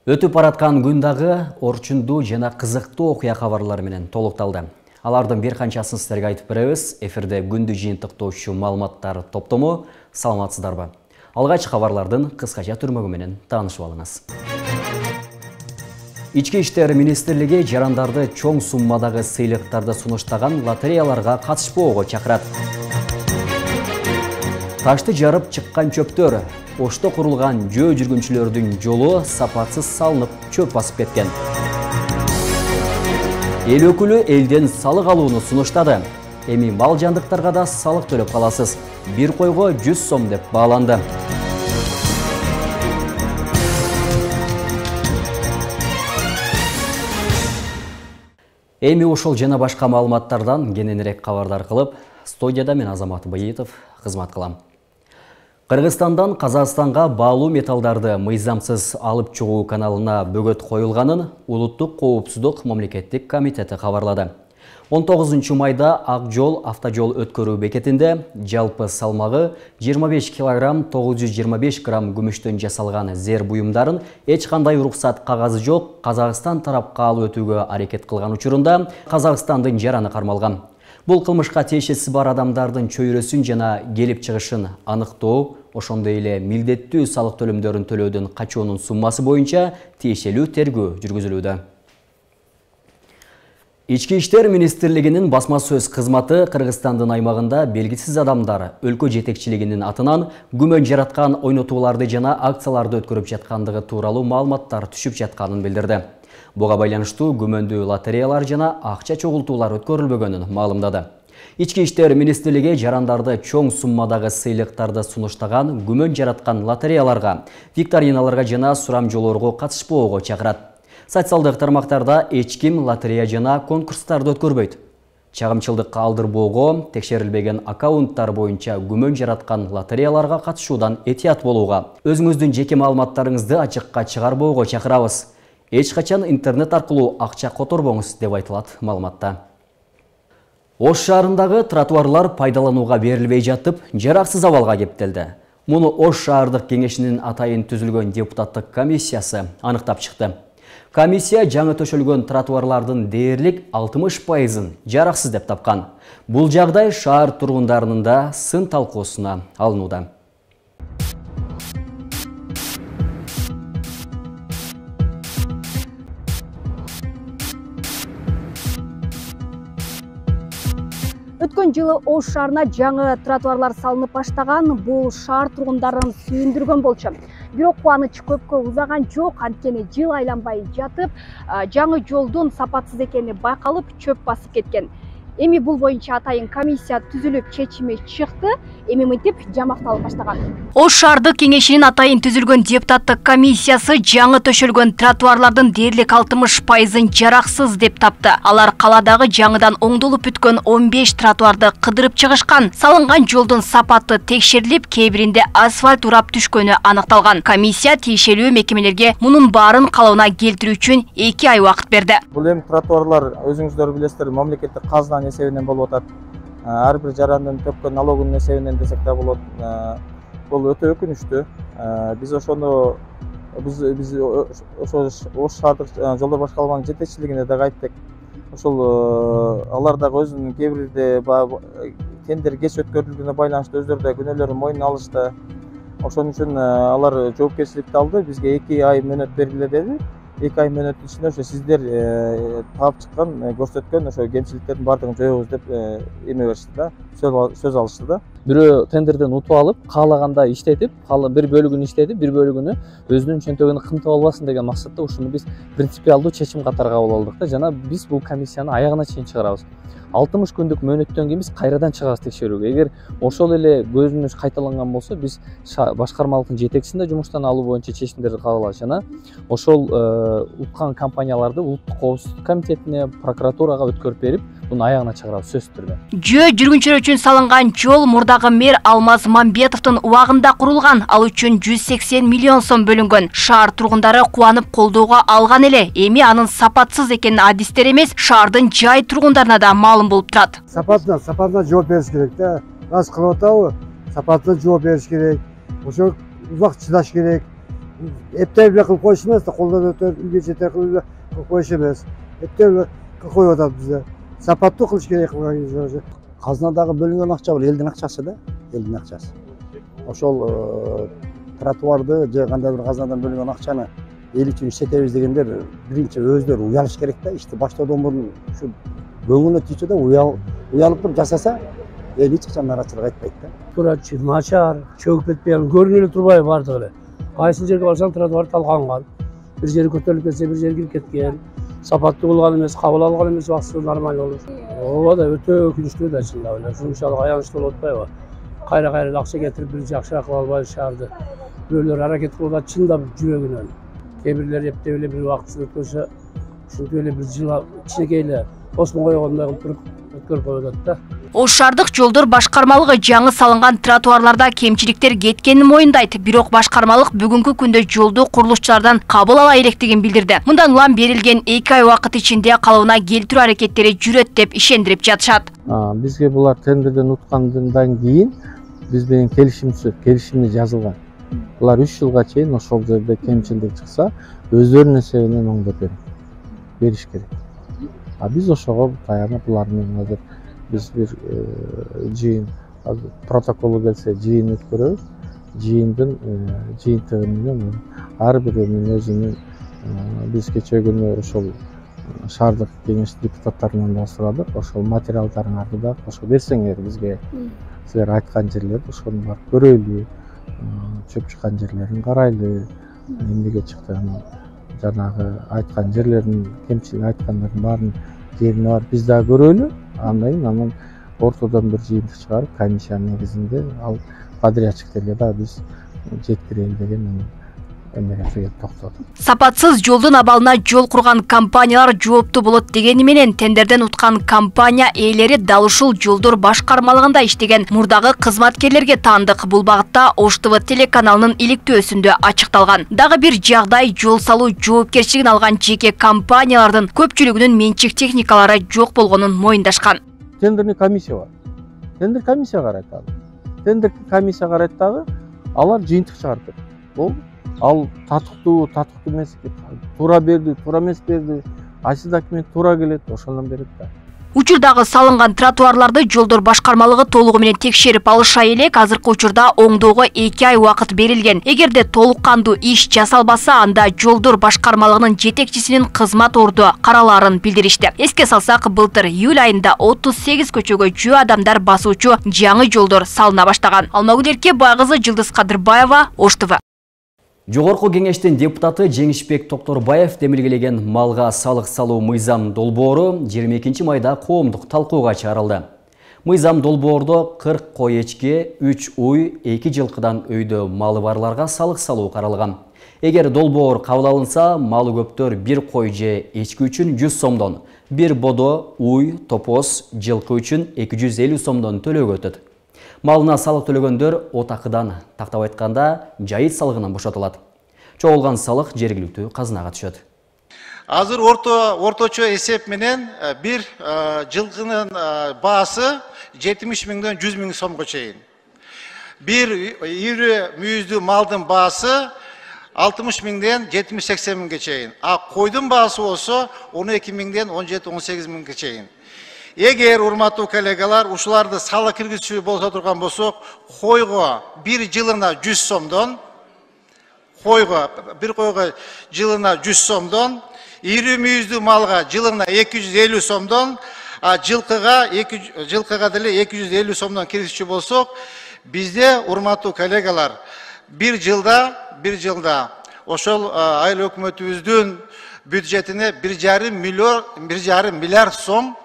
Өтүп бараткан күн дагы орчундуу жана кызыктуу окуя кабарлары менен толукталды. Алардын бир канчасын сиздерге айтып беребиз. Эфирде күндү жыйынтыктоочу маалыматтар топтому. Саламатсыздарбы? Алгач кабарлардын кыскача түрмөгү менен таанышып алыңыз. Ички иштер министрлиги жарандарды чоң суммадагы сыйлыктарды сунуштаган лотереяларга катышпоого чакырат. Ташты жарып чыккан чөптөр, Ошто курулган жөө жүргүнчүлөрдүн жолу сапатсыз салынып чөп басып кеткен. Эл өкүлү элден салык алууну сунуштады. Эми мал жандыктарга да салык төлөп каласыз. Бир койго 100 сом деп бааланды. Эми ошол жана башка маалыматтардан кененирээк кабардар кылып, студияда мен Азамат Быйытов кызмат кылам. Кыргызстандан Казакстанга баалуу металлдарды мыйзамсыз алып чыгуу каналына бөгөт коюлганын Улуттук коопсуздук мамлекеттик комитети кабарлады. 19 майда Ак жол автожол өткөрүү бекетинде жалпы салмагы 25 кг 925 грамм күмүштөн жасалган зер буюмдарын эч кандай уруксат кагазы жок Казакстан тарапка алып өтүүгө аракет кылган учурунда Казакстандын жараны кармалган. Бул кылмышка тиешеси бар адамдардын чөйрөсүн жана келип чыгышын аныктоо, ошондой эле милдеттүү салык төлөмдөрүн төлөөдөн качуунун суммасы боюнча тиешелүү тергөө жүргүзүлүүдө. Ички иштер министрлигинин басма сөз кызматы Кыргызстандын аймагында белгисиз адамдар өлкө жетекчилигинин атынан күмөн жараткан ойнотууларды жана акцияларды өткөрүп жаткандыгы тууралуу маалыматтар түшүп жатканын билдирди. Буга байланыштуу күмөндүү лотереялар жана акча чогултуулар өткөрүлбөгөнүн маалымдады. Ички иштер министрлиги жарандарды чоң суммадагы сыйлыктарды сунуштаган күмөн жараткан лотереяларга, викториналарга жана сурамжоолорго катышпоого чакырат. Социалдык тармактарда эч ким лотерея жана конкурстарды өткөрбөйт. Чагымчылдыкка алдырбоого, текшерилбеген аккаунттар боюнча күмөн жараткан лотереяларга катышуудан этият болууга, өзүңүздүн жеке маалыматтарыңызды ачыкка чыгарбоого чакырабыз. Эч качан интернет аркылуу акча которбоңуз деп айтылат маалыматта. Ош шаарындагы тротуарлар пайдаланууга берилбей жатып, жараксыз абалга кептелди. Муну Ош шаардык кеңешинин атайын түзүлгөн депутаттык комиссиясы аныктап чыкты. Комиссия жаңы төшөлгөн тротуарлардын дээрлик 60%-ын жараксыз деп тапкан. Бул жагдай шаар тургундарынын да сын талкуусуна алынууда. Өткөн жылы Ош шаарына жаңы тротуарлар салынып баштаган, бул шаар тургундарын сүйүндүргөн болчу. Бирок кубаныч көпкө узаган жок, анткени жыл айланбай жатып, жаңы жолдун сапатсыз экени байкалып, чөп басып кеткен. Эми бул боюнча атайын комиссия түзүлүп, чечими чыкты. Эми мынтип жамакталып баштаган. Ош шаардык кеңешинин атайын түзүлгөн депутаттык комиссиясы жаңы төшөлгөн тротуарлардын дээрлик 60%-ын жараксыз деп тапты. Алар каладагы жаңыдан оңдолуп бүткөн 15 тротуарды кыдырып чыгышкан. Салынган жолдун сапаты текшерилип, кээ биринде асфальт урап түшкөнү аныкталган. Комиссия тиешелүү мекемелерге мунун баарын калыбына келтирүү үчүн 2 ай убакыт берди. Бул эми тротуарлар өзүңүздөр билесиздер, мамлекеттик казына эсебинен болуп атат. Ар бир жарандын төккөн налогунун эсебинен десек да болот. Бул өтө өкүнүчтүү. Биз ошону Ош шаардык жолдор башкармалыгынын жетекчилигине да айттык. Ошол алар дагы өзүнүн кээ бирде тендер кеч өткөрүлгөнүнө байланыштуу өздөрү да күнөөлөрүн мойнуна алышты. Ошон үчүн алар жоопкерчиликти алды. Бизге 2 ай мөөнөт бергиле деди. 2 ай мөөнөттүн ичинде ошо сиздер таап чыккан, көрсөткөн ошо кемчиликтердин баардыгын жоебуз деп эме беришти да, сөз алышты да. Бирөө тендерден утуп алып, каалаганда иштетип, бир бөлүгүн иштетип, бир бөлүгүнү өзүнүн чөнтөгүнө кымтып албасын деген максатта ушуну биз принципиалдуу чечим катары кабыл алдык да, жана биз бул комиссияны аягына чейин чыгарабыз. 60 күндүк мөөнөттөн кийин биз кайрадан чыгабыз текшерүүгө. Эгер ошол эле көзүнүш кайталанган болсо, биз башкармалыктын жетекчисин да жумуштан алуу боюнча чечимдерди кабыл алабыз жана ошол уткан компанияларды Улуттук коопсуздук комитетине, прокуратурага өткөрүп берип, буну аягына чыгарабыз сөзсүз түрдө. Жөө жүргүнчүлөр үчүн салынган жол мурдагы мэр Алмаз Мамбетовдун убагында курулган. Ал үчүн 180 миллион сом бөлүнгөн. Шаар тургундары кубанып колдоого алган эле. Эми анын сапатсыз экенин адистер эмес, шаардын жай тургундарына да маалым болуп турат. Сапатына жооп бериш керек да. Рас кылып атабы? Сапатына жооп бериш керек. Ошо убак чыдаш керек. Эптеп эле кылып коюш эмес да, колдон өтөп үйгө жетер кылып коюш эмес. Эптеп эле коюп атат бизде. Сапаттуу кылыш керек кылган кезде. Казнадагы бөлүнгөн акча бул элдин акчасы да, элдин акчасы. Ошол тротуарды же кандай бир казнадан бөлүнгөн акчаны эл үчүн иштетебиз дегендер биринчи өздөрү уялыш керек да. Ишти баштоодон мурун ушу көңүлүнө тийчү да уялып туруп жасаса, эл эч качан нараачылык айтпайт да. Турачы, начар, чөгүп кетпеген, көрүнүп эле турбайбы бардыгы эле. Кайсы жерге барсаң тротуар талканган. Бир жери көтөрүлүп кетсе, бир жери кирип кеткен. Сапаттуу кылган эмес, кабыл алган эмес, убактысы нормалдуу болуш. Ооба да өтө өкүнүчтүү да чындап эле. Ушунчалык аянычтуу болуп атпайбы? Кайра акча кетирип бир жакшыраак кыла албайбы шаарды. Бирөөлөр аракет кылып атат чындап жүрөгүнөн. Кээ бирлер эптеп эле бир убактысын өткөрсө, ушинтип эле бир жыл кичинекей эле осмо койгондой кылып туруп өткөрүп коюп атат да. Ош шаардык жолдор башкармалыгы жаңы салынган тротуарларда кемчиликтер кеткенин моюндайт. Бирок башкармалык бүгүнкү күндө жолду курулушчулардан кабыл ала электигин билдирди. Мындан улам берилген 2 ай убакыт ичинде калыбына келтирүү аракеттери жүрөт деп ишендирип жатышат. Бизге булар тендерден уткандан кийин биз менен келишимде жазылган. Булар 3 жылга чейин ошол жерде кемчилдик чыкса, өздөрүнүн эсебинен бериш керек. Биз ошого таянып булар менен азыр биз бир жыйын протоколу келсе жыйын өткөрөбүз. Жыйындын жыйынтыгы менен ар бирөөнүн өзүнүн биз кечээ күнү ошол шаардык кеңеш депутаттарынан да сурадык. Ошол материалдарыңарды да кошо берсеңер бизге. Силер айткан жерлерди ошону барып көрөйлү. Чөп чыккан жерлерин карайлы. Эмнеге чыкты жанагы айткан жерлерин, кемчилик айткандардын баарын жерине барып биз дагы көрөлү. Анан ортодон бир жыйынтык чыгарып, комиссиянын негизинде ал подрядчиктерге да биз жеткирели деген эмнеге токтодук. Сапатсыз жолдун абалына жол курган компаниялар жооптуу болот дегени менен тендерден уткан компания ээлери дал ушул жолдор башкармалыгында иштеген мурдагы кызматкерлерге таандык. Бул багытта Ош ТВ телеканалынын иликтөөсүндө ачыкталган. Дагы бир жагдай жол салуу жоопкерчилигин алган жеке компаниялардын көпчүлүгүнүн менчик техникалары жок болгонун моюндашкан. Тендерный комиссия бар. Тендер комиссия карайт дагы. Тендер комиссия карайт дагы, алар жыйынтык чыгарып берет. Бул ал татыктуу эмес, туура берди, туура эмес берди, кайсы документ туура келет, ошондон берет да. Учурдагы салынган тротуарларды жолдор башкармалыгы толугу менен текшерип алыша элек, азыркы учурда оңдоого 2 ай убакыт берилген. Эгерде толук кандуу иш жасалбаса, анда жолдор башкармалыгынын жетекчисинин кызмат орду каралаарын билдиришти. Эске салсак, былтыр июль айында 38 көчөгө жөө адамдар басуучу жаңы жолдор салына баштаган. Алмагүл Эркебай кызы, Жылдыз Кадырбаева, Ош ТВ. Жогорку кеңештин депутаты Жеңишбек Токторбаев демилгелеген малга салык салуу мыйзам долбоору 22 майда коомдук талкууга чыгарылды. Мыйзам долбоордо 40 кой эчке, 3 уй, 2 жылкыдан өйдө малы барларга салык салуу каралган. Эгер долбоор кабыл алынса, малы көптөр 1 кой же эчки үчүн 100 сомдон, 1 бодо, уй, топоз, жылкы үчүн 250 сомдон төлөөгө өтөт. Малына салык төлөгөндөр отакыдан, тактап айтканда, жайыт салыгынан бошотулат. Чогулган салык жергиликтүү казынага түшөт. Азыр орточо эсеп менен бир жылкынын баасы 70 миңден 100 миң сомго чейин. Бир ири мүйүздүү малдын баасы 60 миңден 70-80 миңге чейин. Койдун баасы болсо 12 миңден 17-18 миңге чейин. Эгер урматтуу коллегалар ушуларды салык киргизүүчү болсо турган болсок, койго бир жылына 100 сомдон, бир койго жылына 100 сомдон, ири мүйүздүү малга жылына 250 сомдон, жылкыга деле 250 сомдон киргизүүчү болсок, бизде урматтуу коллегалар бир жылда ошол айыл өкмөтүбүздүн бюджетине 1,5 миллиард сом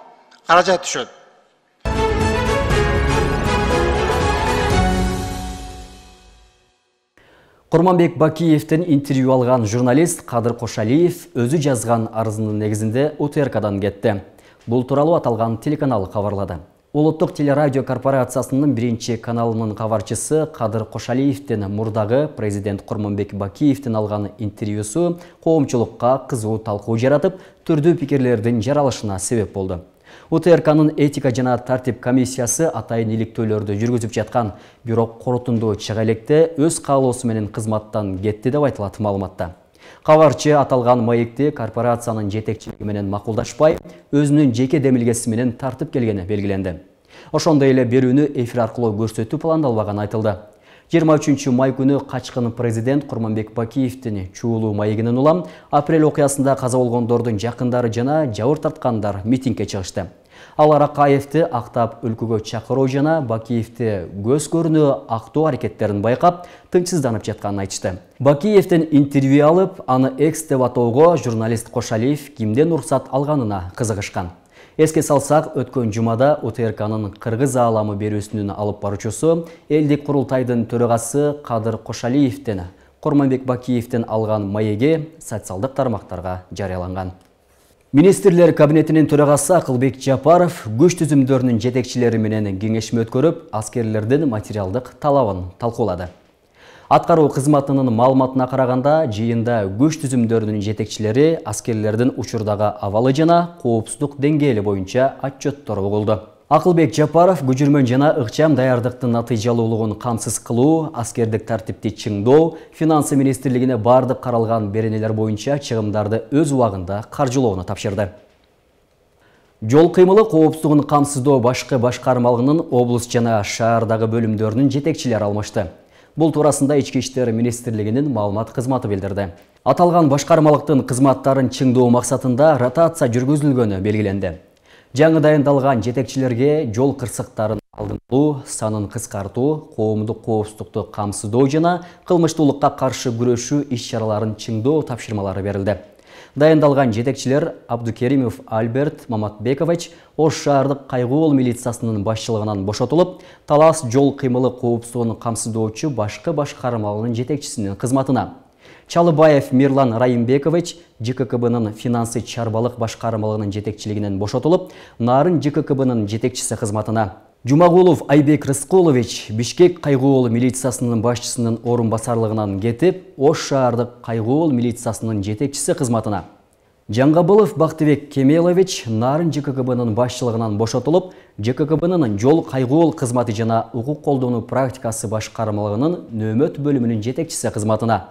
каражат түшөт. Курманбек Бакиевдин интервью алган журналист Кадыр Кошалиев өзү жазган арызынын негизинде УТРКдан кетти. Бул тууралуу аталган телеканал кабарлады. Улуттук телерадио корпорациясынын 1-каналынын кабарчысы Кадыр Кошалиевдин мурдагы президент Курманбек Бакиевдин алган интервьюсу коомчулукка кызуу талкуу жаратып, түрдүү пикирлердин жаралышына себеп болду. УТРКнын этика жана тартип комиссиясы атайын иликтөөлөрдү жүргүзүп жаткан, бирок корутунду чыга электе өз каалоосу менен кызматтан кетти деп айтылат маалыматта. Кабарчы аталган маекти корпорациянын жетекчилиги менен макулдашпай, өзүнүн жеке демилгеси менен тартып келгени белгиленди. Ошондой эле берүүнү эфир аркылуу көрсөтүү пландалбаганы айтылды. 23 май күнү качкын президент Курманбек Бакиевдин Чуулуу маегинен улам апрель окуясында каза болгондордун жакындары жана жабыр тарткандар митингге чыгышты. Алар Акаевди актап өлкөгө чакыруу жана Бакиевди көз көрүнү актоо аракеттерин байкап, тынчсызданып жатканын айтышты. Бакиевдин интервью алып, аны экс деп атоого журналист Кошалиев кимден уруксат алганына кызыгышкан. Эске салсак, өткөн жумада УТРКнын кыргыз ааламы берүүсүнүн алып баруучусу, элдик курултайдын төрагасы Кадыр Кошалиевдин Курманбек Бакиевдин алган маеги социалдык тармактарга жарыяланган. Министрлер кабинетинин төрагасы Акылбек Жапаров күч түзүмдөрүнүн жетекчилери менен кеңешме өткөрүп, аскерлердин материалдык талабын талкуулады. Аткаруу кызматынын маалыматына караганда, жыйында күч түзүмдөрүнүн жетекчилери аскерлердин учурдагы абалы жана коопсуздук деңгээли боюнча отчеттор угулду. Акылбек Жапаров көчүрмөн жана ыкчам даярдыктын натыйжалуулугун камсыз кылуу, аскердик тартипти чыңдоо, финансы министрлигине бардык каралган беренелер боюнча чыгымдарды өз убагында каржылоону тапшырды. Жол кыймылы коопсуздугун камсыздоо башкы башкармалыгынын облус жана шаардагы бөлүмдөрүнүн жетекчилери алмашты. Бул туурасында Ички иштер министрлигинин маалымат кызматы билдирди. Аталган башкармалыктын кызматтарын чыңдоо максатында ротация жүргүзүлгөнү белгиленди. Жаңы дайындалган жетекчилерге жол кырсыктарын алдын алуу, санын кыскартуу, коомдук коопсуздукту камсыздоо жана кылмыштуулукка каршы күрөшүү иш-чараларын чыңдоо тапшырмалары берилди. Дайындалган жетекчилер Абдукеримов Альберт Маматбекович Ош шаардык кайгуул милициясынын башчылыгынан бошотулуп, Талас жол кыймылы коопсуздугун камсыздоочу башкы башкармалыгынын жетекчисинин кызматына. Чалыбаев Мирлан Райымбекович ЖККБнын финансы чарбалык башкармалыгынын жетекчилигинен бошотулуп, Нарын ЖККБнын жетекчиси кызматына. Жумагулов Айбек Рыскулович Бишкек кайгуул милициясынын башчысынын орун басарлыгынан кетип, Ош шаардык кайгуул милициясынын жетекчиси кызматына. Жаңгабылов Бактыбек Кемелович Нарын ЖККБнын башчылыгынан бошотулуп, ЖККБнын жол кайгуул кызматы жана укук колдонуу практикасы башкармалыгынын нөөмөт бөлүмүнүн жетекчиси кызматына.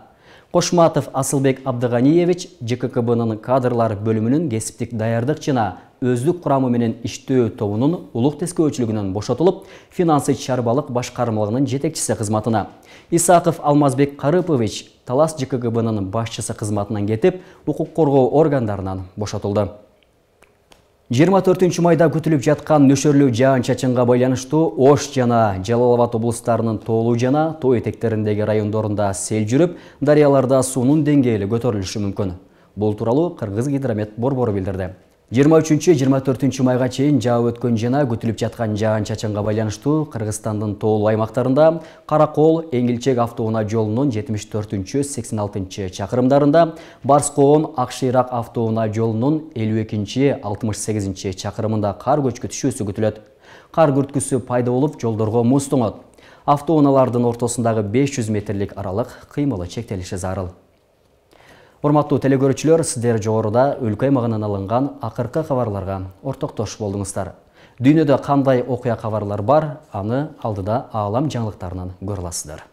Кошматов Асылбек Абдыганиевич ЖККБнын кадрлар бөлүмүнүн кесиптик даярдык жана өздүк курамы менен иштөө тобунун улук тескөөчүлүгүнөн бошотулуп, финансы чарбалык башкармалыгынын жетекчиси кызматына. Исаков Алмазбек Карыпович Талас ЖККБнын башчысы кызматынан кетип, укук коргоо органдарынан бошотулду. 24 майда күтүлүп жаткан нөшөрлүү жаан-чачынга байланыштуу Ош жана Жалал Абад облустарынын тоолуу жана тоо этектериндеги райондорунда сел жүрүп, дарыяларда суунун деңгээли көтөрүлүшү мүмкүн. Бул тууралуу Кыргыз гидромет борбору билдирди. 23-24 майга чейин жаап өткөн жана күтүлүп жаткан жаан-чачынга байланыштуу Кыргызстандын тоолуу аймактарында Каракол Эңилчек автоунаа жолунун 74-86 чакырымдарында, Барскоон Акшыйрак автоунаа жолунун 52-68 чакырымында кар көчкү күтүлөт. Кар күрткүсү пайда болуп, жолдорго муз тоңот. Автоунаалардын ортосундагы 500 метрлик аралык кыймылы чектелиши зарыл. Урматтуу телекөрүүчүлөр, сиздер жогоруда өлкө аймагынан алынган акыркы кабарларга ортоктош болдуңуздар. Дүйнөдө кандай окуя кабарлар бар, аны алдыда аалам жаңылыктарынан көрө аласыздар.